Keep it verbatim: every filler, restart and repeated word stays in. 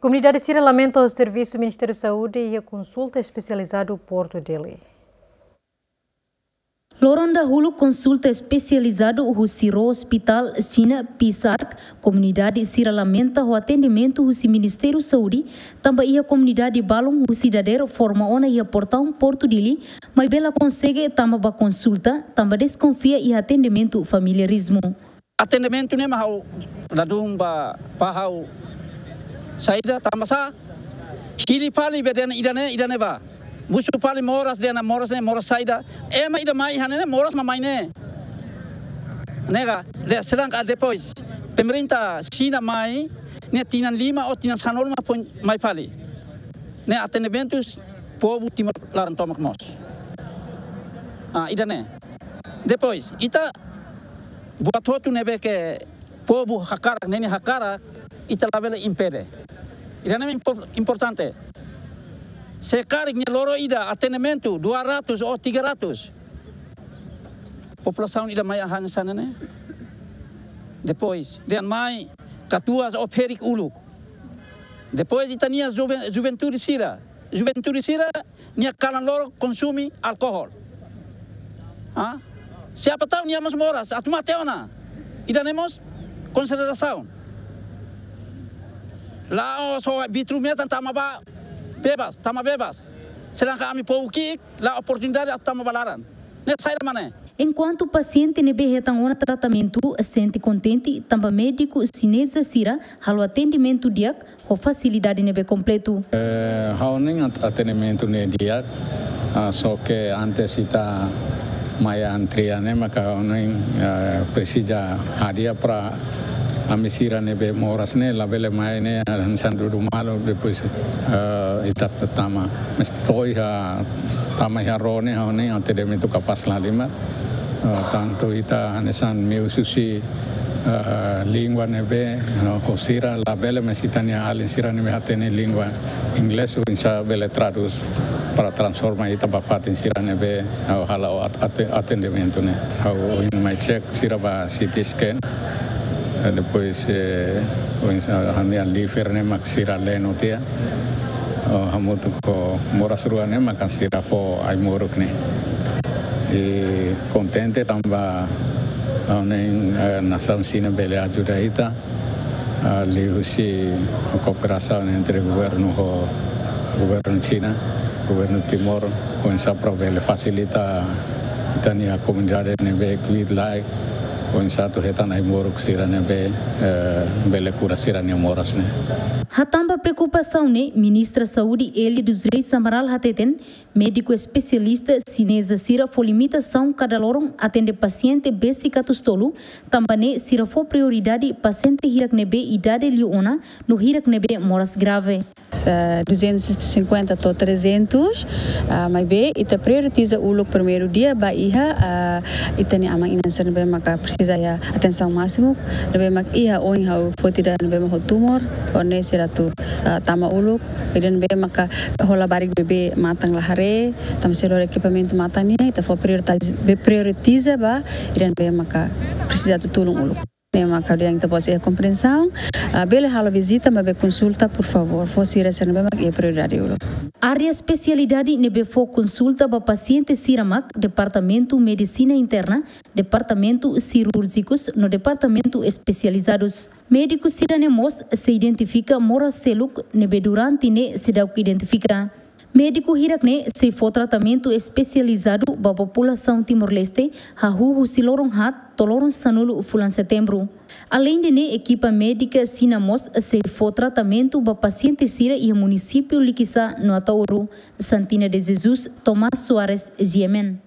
Komunidade sira lamenta servisu Ministériu Saúde iha konsulta espesializadu Portu Dili. Loron dahuluk konsulta espesializadu husi Rua Hospital Xina Pisark, komunidade sira lamenta ho atendimentu husi Ministériu Saúde, tanba iha komunidade balun husi dadeer forma ona iha portaun Portu Dili, maibé la konsege tama ba konsulta, tanba deskonfia iha atendimentu familiarizmu. Atendimentu ne'e mak ha'u ladún ba, ba ha'u saida, tanba sá? Hili fali be dehan ida-ne'e, ida-ne'ebá. Mosu fali moras, dehan moras ne'e, moras saida. Ema ida mai iha ne'e, moras mak mai ne'e. Ne'e ka, de, sedangkan depois, pemerintah Xina mai, ne'e tinan lima ou tinan sanulu mak foin mai fali. Ne'e atendimentu povu Timor laran tomak mós. Ah, ida-ne'e. Depois, ita buat hotu ne'ebé ke povu hakarak, ne'e nia hakarak, ita labele impede. Ida-ne'e impor-, importante. Se karik nia loron ida atendimentu dua ratus ou tiga ratus, populasaun ida mai hanesan ne'e. Depois, dehan mai katuas ou ferik uluk. Depois, ita-nia juven-, juventude sira. Juventude sira, nia kalan loron konsume alkohol. Ha? Siapa tahu nia mós moras, atu mate ona. Ida-ne'e mós konsiderasaun. La'ós só vitru metan tama ba bebas, tama bebas. Sedangkan ami povu ki'ik, la oportunidade atu tama ba laran. Ne'e saida mak ne'e? Enkuantu pasiente ne'ebé hetan ona tratamentu sente kontente, tanba médiku xineza sira halo atendimentu di'ak, ho fasilidade ne'ebé kompletu. Eh, ha'u hanoin at-, atendimentu ne'e di'ak, ah, só ke antes ita mai antrian ne'e maka ha'u hanoin, eh, presiza hadi'a para ami sira ne'ebé moras ne'e labele mai ne'e hanesan dudu malu depois, eh, ita tama. Mas to'o iha tama iha rua ne'e ha'u hanoin atendimentu kapás lahalimar. Eh, tantu ita hanesan meius husi, eh, língua ne'ebé, eh, ho sira labele, mas ita-nia alin sira ne'ebé hatene língua inglés, oinsá bele tradús para transforma ita ba fatin sira ne'ebé, eh, halo at-, ate-, atendimentu ne'e. Ha'u ohin mai cek sira ba C T scan. Eh, depois, eh, oinsá ha'u-nia liver ne'e mak sira leno tiha. Oh, hamutuk ho moras rua ne'e maka sira fó ai-moruk ne'e. I kontente tanba, ah, ne'e, eh, nasaun Xina bele ajuda ita, ah, liuhusi kooperasaun entre governu ho governu Xina, governu Timor, oinsá para bele fasilita ita-nia komunidade ne'ebé kbiit-laek, oinsá atu hetan ai-moruk sira ne'ebé, eh, bele kura sira-nia moras ne'e. Hatán ba preokupasaun ne'e, Ministra Saúde Elia dos Reis Amaral hateten, médiku espesialista xineza sira fó limitasaun kada loron atende pasiente besik atus tolu, tanba ne'e sira fó prioridade pasiente hirak ne'ebé idade liu ona, no hirak ne'ebé moras grave. Eh, duzentos e cinquenta to'o trezentos, ah, maibé ita prioritiza uluk primeiru dia ba iha, ah, ita-nia aman-inan sira ne'ebé maka presiza iha atensaun másimu, ne'ebé mak iha ohin ha'u foti ida ne'ebé mak ho tumor, ho ne'e sira atu, ah, tama uluk, ida ne'ebé maka ho labarik bebé matan la haree, tanba sira ekipamentu matan nian, ita fó prioritiza, be prioritiza ba ida ne'ebé maka presiza atu tulun uluk. Ne'e maka ha'u dehan ita-boot sira iha komprensaun, ah, bele halo vizita, maibé konsulta, por favór, fó sira sira ne'ebé mak iha prioridade uluk. Área espesialidade ne'ebé fó konsulta ba pasiente sira mak Departamentu Medisina Interna, Departamentu Sirúrjikus, no Departamentu Espesializadus. Médiku sira-ne'e mós sei identifika moras seluk ne'ebé durante ne'e seidauk identifika. Médiku hirak-ne'e sei fó tratamentu espesializadu ba populasaun Timor-Leste, hahú husi loron haat to'o loron sanulu fulan Setembru. Aleinde ne'e, ekipa médika Xina mós sei fó tratamentu ba pasiente sira iha munisípiu Likisá no Ataúro. Santina de Jesus, Tomás Soares, G M N.